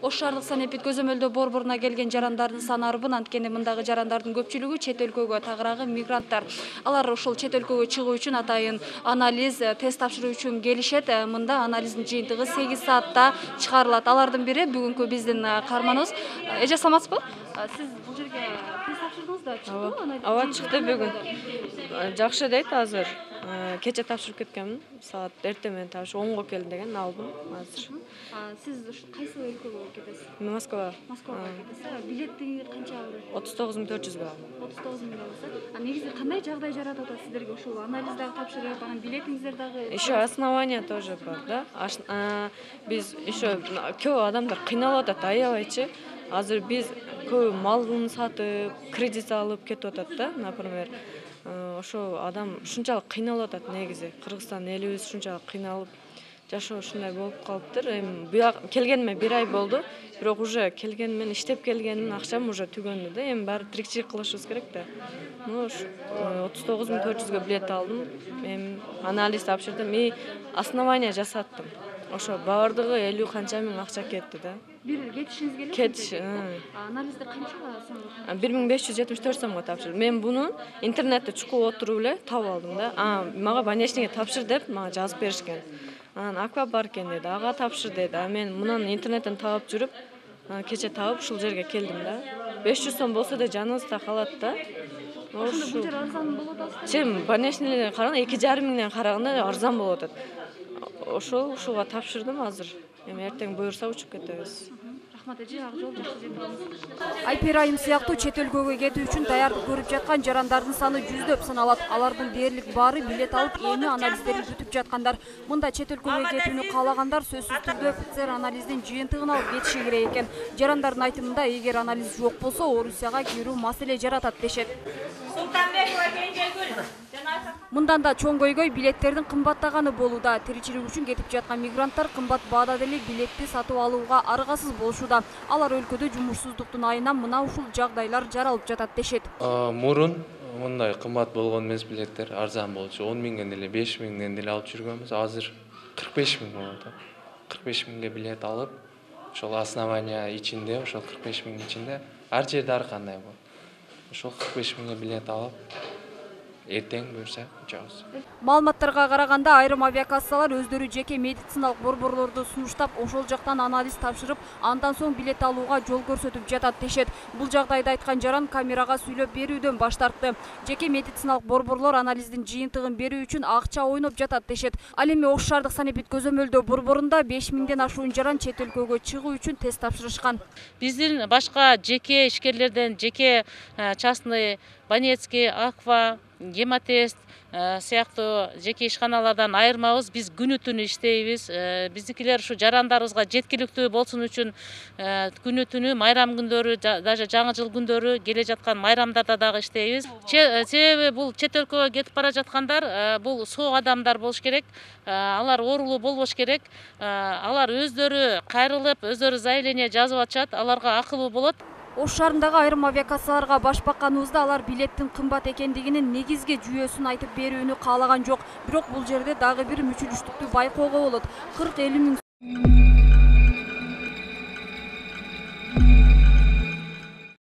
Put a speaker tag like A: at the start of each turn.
A: Ош шаардык санэпид көзөмөлдөө борборуна келген жарандардын саны арбын, анткени мындагы жарандардын көпчүлүгү чет өлкөгө тагыраагы мигранттар. Алар ошол чет өлкөгө чыгуу үчүн атайын анализ, тест тапшыруу үчүн келишет. Мында анализдин жыйынтыгы 8 саатта чыгарылат. Алардын бири бүгүнкү биздин каарманыбыз. Эже саламатсызбы? Сиз бул жерге тест тапшырдыңыз да, чыктыбы?
B: Ооба, чыкты бүгүн. Жакшы дейт азыр. Кече тапшырып кеткенмин. Саат эртең менен тапшырып 10го келдим деген алдым азыр.
A: Сиз кайсы өлкөгө кетесиз?
B: Москвага.
A: Москвага кетесиз. Билетти канча алдыңыз?
B: 39.400 алдым.
A: 39.000 алдыңыз. Негизи кандай жагдай жаратып атат сиздерге ошол анализ дагы тапшырып, анан билетиңиздер дагы?
B: Еще основания тоже бар, да. Биз еще көп адамдар кыйналып атат, аябайчы. Азыр биз көп малын сатып, кредит алып кетип атат да, например. Ошо адам ушунчалык кыйналып атат негизи. Кыргызстан элибиз ушунчалык кыйналып жашоо ушундай болуп калыптыр. Эми буяк келгениме 1 ай болду. Бирок уже келгенимен иштеп келгенмин, акчам уже түгөндү да. Эми баары тирикчилик кылышыбыз керек да. 39.400 билет алдым. Эми анализ тапшырдым и основания жасаттым. Ошо баардыгы 50 канча миң акча кетти да.
A: Бир кетишиңиз келет?
B: Кетиш.
A: Анализди канчага сомго?
B: 1574 сомго тапшырдым. Мен буну интернетте чукуп отуруп эле таап алдым да. Мага больничныйга тапшыр деп мага жазып беришкен. Анан аквапарк экен деди, ага тапшыр деди. Мен мунун интернеттен таап жүрүп, кече таап ушул жерге келдим да. 500 сом болсо да жаныбызда калат да.
A: Ошондо бул жер арзан болуп атат?
B: Чем больничныйдан караганда 2,5 миңден караганда арзан болуп атат. Ушуга тапшырдым азыр. Эми эртең буюрса учуп кетебиз.
A: Рахмат эже, ак жол жакшы жетип алыңыз.
C: Айпер айым сыяктуу чет өлкөгө кетүү үчүн даярдык көрүп жаткан жарандардын саны жүздөп саналат. Алардын дээрлик баары билет алып, эми анализдерин күтүп жаткандар. Мында чет өлкөгө кетүүнү каалагандар сөзсүз түрдө ПЦР анализдин жыйынтыгын алып кетиши керек экен. Жарандардын айтымында, эгер анализ жок болсо, Орусияга кирүү маселе жаратат дешет. Мындан да чоң көйгөй билеттердин кымбаттаганы болууда. Тиричилик үчүн кетип жаткан мигранттар кымбат баада деле билетти сатып алууга аргасыз болушууда. Алар өлкөдө жумушсуздуктун айынан мына ушул жагдайлар жаралып жатат дешет.
D: Мурун мындай кымбат болгон эмес билеттер, арзан болчу. 10 миңден деле 5 миңден деле алып жүргөнбүз. Азыр 45 миң болот. 45 миңге билет алып, ошол основания ичинде, ошол 45 миң ичинде ар жерде ар кандай болот. Ошол 45 миңге билет алып эртең буюрса учабыз.
C: Маалыматтарга караганда айрым авиакассалар өздөрү жеке медициналык борборлорду сунуштап, ошол жактан анализ тапшырып, андан соң билет алууга жол көрсөтүп жатат дешет. Бул жагдайды айткан жаран камерага сүйлөп берүүдөн баш тартты. Жеке медициналык борборлор анализдин жыйынтыгын берүү үчүн акча ойноп жатат дешет. Ал эми Ош шаардык санэпид көзөмөлдөө борборунда 5 миңден ашуун жаран чет өлкөгө чыгуу үчүн тест тапшырышкан.
E: Биздин башка жеке ишкерлерден, жеке частный, Банецкий, Аква, Гемотест сыяктуу жеке ишканалардан айырмабыз. Биз күнү түнү иштейбиз. Биздикилер ушу жарандарыбызга жеткиликтүү болсун үчүн күнү түнү майрам күндөрү, даже жаңы жыл күндөрү келе жаткан майрамдарда дагы иштейбиз. Себеби бул чет өлкөгө кетип бара жаткандар, бул соо адамдар болуш керек. Алар оорулуу болбош керек. Алар өздөрү кайрылып, өздөрү заявление жазып атышат. Аларга акылуу болот.
C: Ош шаарындагы айрым авиакассаларга баш бакканыбызда алар билеттин кымбат экендигинин негизги жүйөсүн айтып берүүнү каалаган жок. Бирок бул жерде дагы бир мүчүлүштүктү байкоого болот. 40-50 миң